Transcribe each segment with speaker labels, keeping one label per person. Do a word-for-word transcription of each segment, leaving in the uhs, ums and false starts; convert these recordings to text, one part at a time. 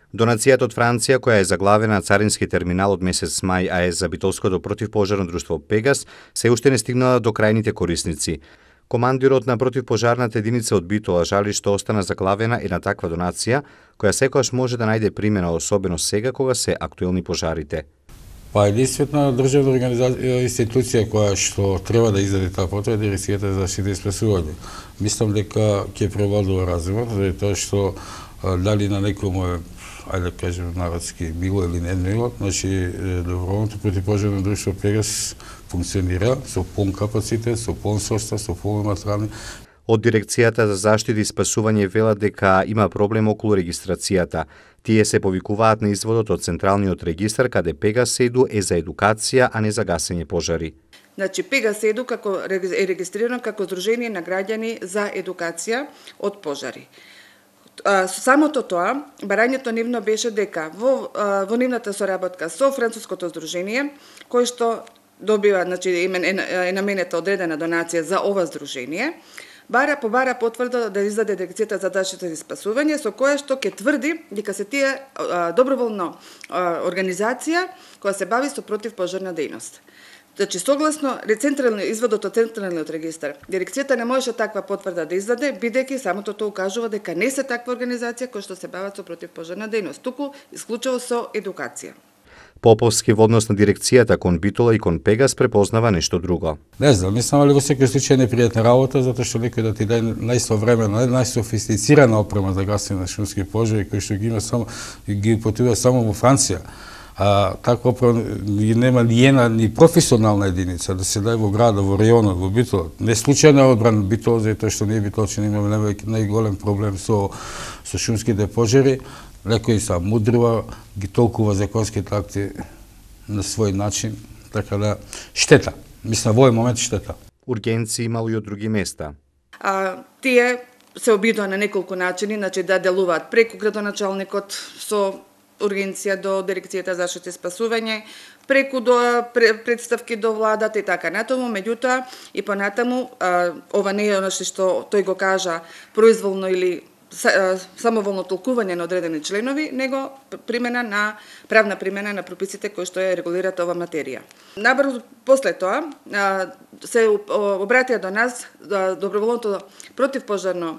Speaker 1: Донацијата од Франција, која е заглавена на царински терминал од месец мај, а е за битолското противпожарно друштво Пегас, се уште не стигнала до крајните корисници. Командирот на противпожарната единица од Битола жали што остана заглавена една таква донација, која секогаш може да најде примена, особено сега кога се актуелни пожарите.
Speaker 2: Па единствена државна организација, институција која што треба да издаде таа потврда е Дирекцијата за заштита и спасување. Мислам дека ќе превладува разумот, заради тоа што дали на некој му е, ајде да кажем народски, мило или не мило, значи доброволното противпожарно друштво Пегас функционира со пун капацитет, со пун состав, со пун материјални.
Speaker 1: Од Дирекцијата за заштита и спасување велат дека има проблем околу регистрацијата. Тие се повикуваат на изводот од Централниот регистар, каде Пегас Еду е за едукација, а не за гасење пожари.
Speaker 3: Значи, Пегас Еду како е регистрирано како Здружение на граѓани за едукација од пожари. Самото тоа, барањето нивно беше дека во, во нивната соработка со Француското здружение, кој што добива, значи, е наменета одредена донација за ова здружение, бара побара потврда да издаде Дирекцијата за заштита и спасување, со која што ќе тврди дека се тие доброволно организација која се бави со противпожарна дејност. Значи, согласно централни изводот од Централниот регистар, Дирекцијата не можеше таква потврда да издаде, бидејќи самото тоа укажува дека не се таква организација која што се бават со противпожарна дејност, туку исклучиво со едукација.
Speaker 1: Поповски во однос на Дирекцијата кон Битола и кон Пегас препознава нешто друго.
Speaker 2: Не знам, мислам, али во секој случај непријатна работа, затоа што некој да ти даде најсовремена, најсофистицирана опрема за гасење на шумски пожари, кои што ги има само, ги употребува само во Франција. А таква опрема нема ни една ни професионална единица да се даде во града, во районот, во Битола. Не случајно е одбран Битола, затоа што ние битолчани имаме најголем проблем со со шумските пожари. Некој са мудрува, ги толкува законските акти на свој начин, така да штета. Мислам, во овој момент штета.
Speaker 1: Ургенци имало и од други места.
Speaker 3: А, тие се обидува на неколку начини, значи да делуваат преку градоначалникот со ургенција до Дирекцијата за заштита и спасување, преку до представки до владата и така натаму, меѓутоа и понатаму а, ова не е она што тој го кажа произволно или самоволно толкување на одредени членови, него примена на правна примена на прописите кои што ја регулираат ова материја. Набрзо после тоа се обратија до нас доброволното противпожарно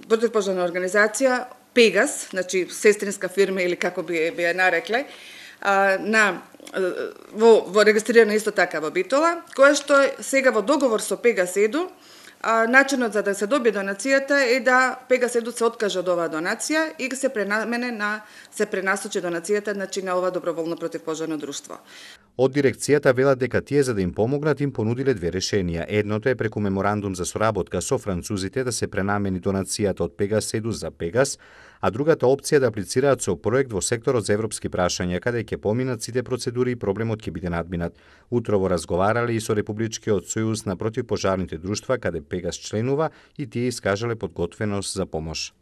Speaker 3: противпожарна организација Пегас, значи сестринска фирма или како би би ја нарекле, на во, во регистрирана исто така во Битола, која што сега во договор со Пегас Еду, А, начинот за да се добие донацијата е да Пегас Еду се откаже од оваа донација и се пренамене на се пренасочи донацијата значи на ова доброволно противпожарно друштво.
Speaker 1: Од Дирекцијата велат дека тие за да им помогнат им понудиле две решенија. Едното е преку меморандум за соработка со французите да се пренамени донацијата од Пегас Еду за Пегас, а другата опција да аплицираат со проект во секторот за европски прашања, каде ќе поминат сите процедури и проблемот ќе биде надминат. Утрово разговарале и со Републичкиот сојуз на противпожарните друштва, каде Пегас членува, и тие искажале подготвеност за помош.